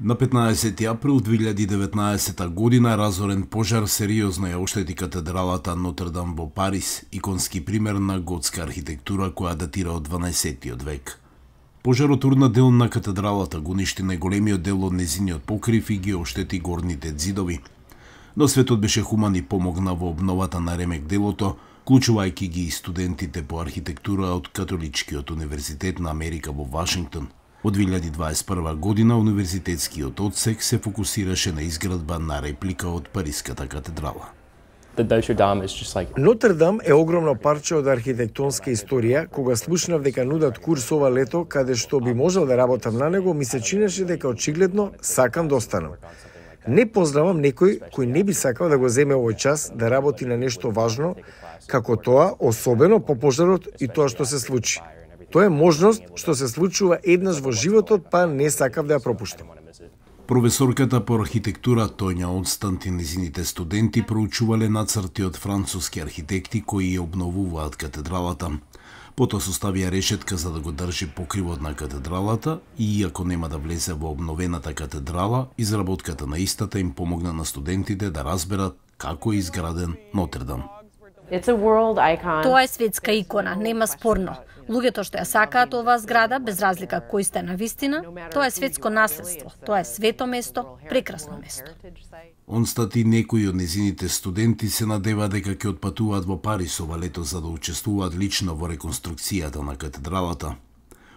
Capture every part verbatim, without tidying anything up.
На петнаесети април две илјади и деветнаесета година разорен пожар сериозно ја оштети катедралата Нотр-Дам во Париз, иконски пример на готска архитектура која датира од дванаесеттиот век. Пожарот урна дел на катедралата, го уништи најголемиот дел од незиниот покрив и ги оштети горните ѕидови. Но светот беше хуман и помогна во обновата на ремек делото, вклучувајќи ги и студентите по архитектура од Католичкиот универзитет на Америка во Вашингтон. Од две илјади дваесет и прва година универзитетскиот одсек се фокусираше на изградба на реплика од Париската катедрала. Нотр-Дам е огромно парче од архитектонска историја. Кога слушнав дека нудат курс ова лето, каде што би можел да работам на него, ми се чинеше дека очигледно сакам да останам. Не познавам некој кој не би сакал да го земе овој час да работи на нешто важно, како тоа, особено по пожарот и тоа што се случи. Тоа е можност што се случува еднаш во животот, па не сакав да ја пропуштам. Професорката по архитектура Тоња Онстант и незините студенти проучувале нацрти од француски архитекти кои ја обновуваат катедралата. Потоа составија решетка за да го држи покривот на катедралата и иако нема да влезе во обновената катедрала, изработката на истата им помогна на студентите да разберат како е изграден Нотр-Дам. Тоа е светска икона, нема спорно. Луѓето што ја сакаат оваа зграда, без разлика кој сте на вистина, тоа е светско наследство, тоа е свето место, прекрасно место. Онстат и некои од незините студенти се надева дека ќе отпатуваат во Париз ова лето за да учествуваат лично во реконструкцијата на катедралата.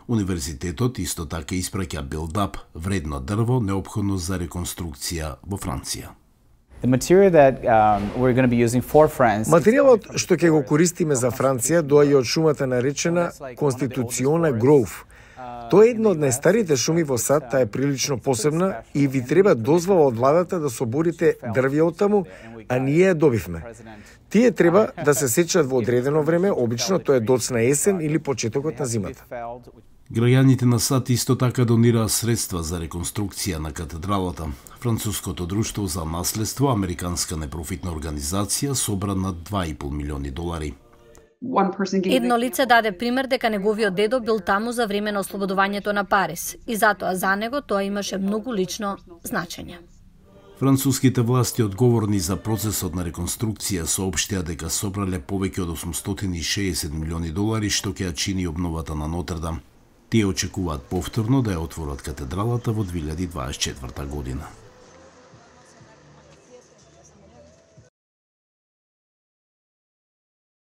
Универзитетот исто така испраќа билдап, вредно дрво, неопходно за реконструкција во Франција. Материјалот што ќе го користиме за Франција доаѓа од шумата наречена Конституциона Гроув. Тоа е една од најстарите шуми во САД, таа е прилично посебна и ви треба дозвола од владата да соборите дрвја од таму, а ние ја добивме. Тие треба да се сечат во одредено време, обично тоа е доцна есен или почетокот на зимата. Граѓаните на САД исто така донираа средства за реконструкција на катедралата. Француското друштво за наследство, американска непрофитна организација, собра на два и пол милиони долари. Едно лице даде пример дека неговиот дедо бил таму за време на ослободувањето на Париз и затоа за него тоа имаше многу лично значење. Француските власти одговорни за процесот на реконструкција соопштија дека собрале повеќе од осумстотини и шеесет милиони долари што ќе ја чини обновата на Нотр-Дам. Тие очекуваат повторно да ја отворат катедралата во две илјади дваесет и четврта година.